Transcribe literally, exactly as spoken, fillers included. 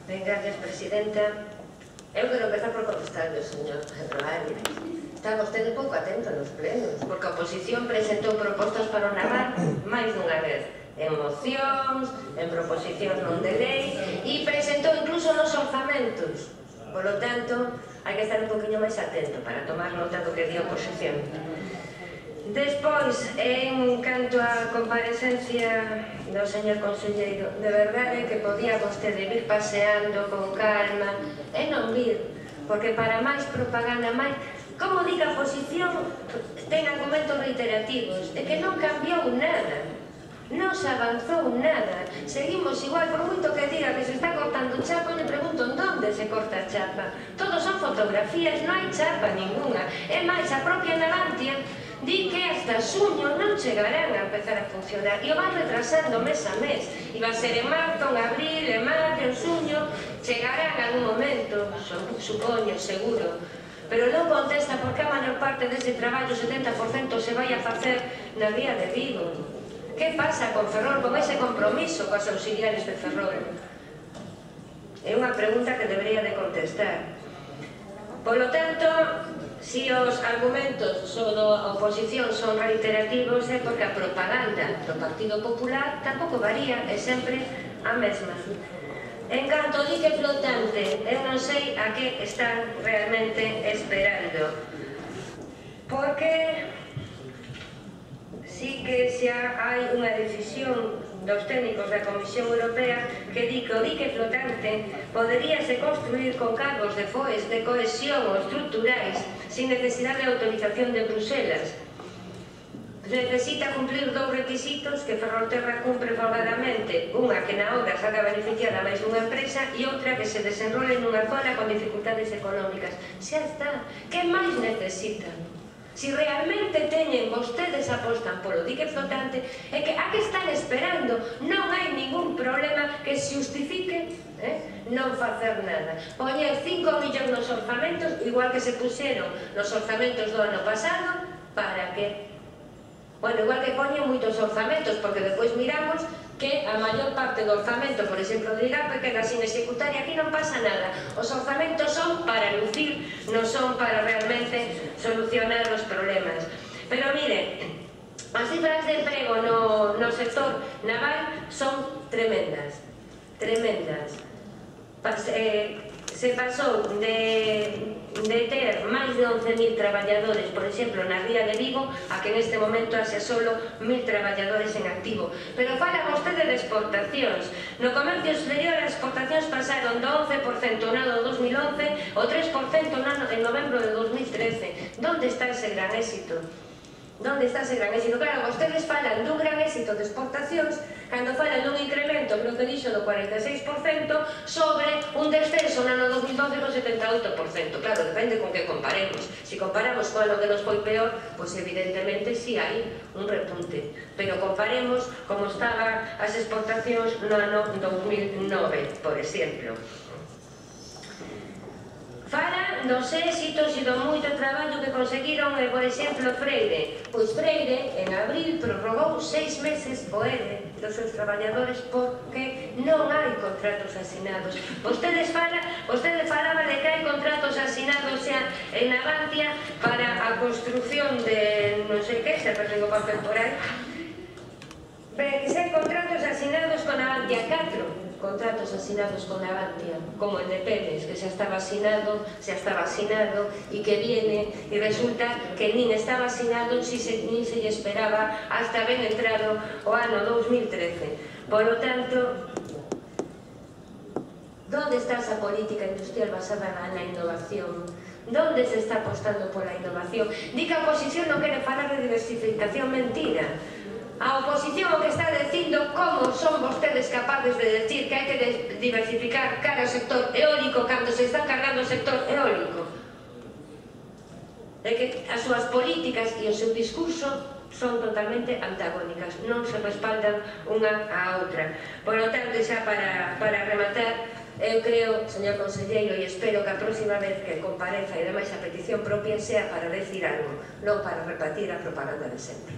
Ben, gracias, presidenta. Eu quero empezar por contestarle, señor Roario. Está vostede pouco atento nos plenos, porque a oposición presentou propostas para o naval máis dunha vez, en mocións, en proposicións non de lei, e presentou incluso nos orzamentos. Por lo tanto, hai que estar un poquinho máis atento para tomar nota do que di a oposición. Despois, en canto á comparecencia do señor conselleiro, de verdade que podía vostede vir paseando con calma e non vir, porque para máis propaganda, máis... Como diga a oposición, ten argumentos reiterativos, de que non cambiou nada, non se avanzou nada, seguimos igual, por moito que diga que se está cortando chapa, le pregunto onde se corta chapa. Todos son fotografías, non hai chapa ninguna. É máis, a propia Navantia di que hasta xuño non chegarán a empezar a funcionar e o van retrasando mes a mes. Iba a ser en marzo, en abril, en maio, en xuño, chegarán en algún momento, supoño, seguro. Pero non contesta porque a maior parte dese traballo, setenta por cento, se vai a facer na vía de Vigo. Que pasa con Ferrol, con ese compromiso coas auxiliares de Ferrol? É unha pregunta que debería de contestar. Polo tanto, se os argumentos sobre a oposición son reiterativos é porque a propaganda do Partido Popular tampouco varía, é sempre a mesma. En canto ao dique flotante, eu non sei a que están realmente esperando, porque sí que xa hai unha decisión dos técnicos da Comisión Europea que di que o dique flotante poderíase construir con cargos de foes de cohesión ou estruturais sin necesidade de autorización de Bruselas. Necesita cumplir dous requisitos que Ferrolterra cumpre folgadamente, unha que na obra saca beneficiada máis unha empresa e outra que se desenrole nunha zona con dificultades económicas. Xa está, que máis necesitan? Si realmente teñen, vostedes apostan polo dique flotante, é que a que están esperando? Non hai ningún problema que se justifique eh, non facer nada. Poñer cinco millóns nos orzamentos, igual que se puxeron nos orzamentos do ano pasado, para que? Bueno, igual que poñen moitos orzamentos, porque depois miramos que a maior parte do orzamento, por exemplo, do IGAPE, queda sin executar e aquí non pasa nada. Os orzamentos son para lucir, non son para realmente solucionar os problemas. Pero mire, as cifras de emprego no, no sector naval son tremendas, tremendas. Pas, eh, se pasou de, de ter máis de once mil traballadores, por exemplo, na ría de Vigo, a que neste momento haxe solo mil traballadores en activo. Pero fala vostede de exportacións. No comercio exterior as exportacións pasaron do once por cento no ano dos mil once ao tres por cento no ano de novembro de dos mil trece. Donde está ese gran éxito? Donde está ese gran éxito? Claro, vostedes falan dun gran éxito de exportacións cando falan dun incremento, creo que dixo, do cuarenta e seis por cento sobre un descenso no ano dos mil doce do setenta e oito por cento. Claro, depende con que comparemos. Se comparamos con ano que nos foi peor, pois evidentemente si hai un repunte. Pero comparemos como estaban as exportacións no ano dos mil nove, por exemplo. Fala dos éxitos e do moito traballo que conseguiron, por exemplo, Freire. Pois Freire, en abril, prorrogou seis meses o E R E dos seus traballadores porque non hai contratos asinados. Vostedes fala, vostede falaba de que hai contratos asinados xa en Navantia para a construción de non sei que, se perdigo papel por aí. Que se hai contratos asinados con Navantia, catro contratos asinados con Navantia, como el de Pérez, que xa estaba asinado, xa estaba asinado, e que viene, e resulta que nin estaba asinado, si se, nin se lle esperaba hasta ben entrado o ano dos mil trece. Por lo tanto, donde está esa política industrial basada na innovación? Donde se está apostando pola innovación? Di que a oposición non quere falar de diversificación, mentira. A oposición o que está dicindo como son vostedes capaces de decir que hai que diversificar cara ao sector eólico cando se está cargando o sector eólico. É que as súas políticas e o seu discurso son totalmente antagónicas, non se respaldan unha á outra. Por lo tanto, xa para, para rematar, eu creo, señor conselleiro, e espero que a próxima vez que compareza e demais a petición propia sea para decir algo, non para repetir a propaganda de sempre.